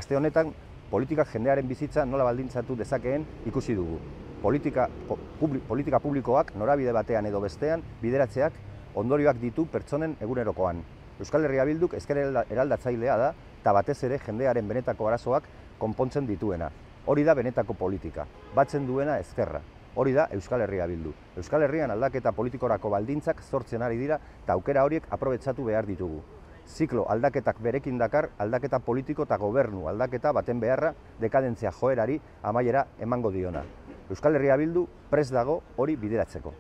Aste honetan, politikak jendearen bizitza nola baldintzatu dezakeen ikusi dugu. Politika publikoak norabide batean edo bestean bideratzeak ondorioak ditu pertsonen egunerokoan. Euskal Herria Bilduk ezker eraldatzailea da eta batez ere jendearen benetako arazoak konpontzen dituena. Hori da benetako politika, batzen duena ezkerra. Hori da Euskal Herria Bildu. Euskal Herrian aldaketa politikorako baldintzak sortzen ari dira eta aukera horiek aprobetxatu behar ditugu. Ziklo aldaketak berekin dakar aldaketa politiko eta gobernu aldaketa baten beharra dekadentzia joerari amaiera emango diona. Euskal Herria Bildu prest dago hori bideratzeko.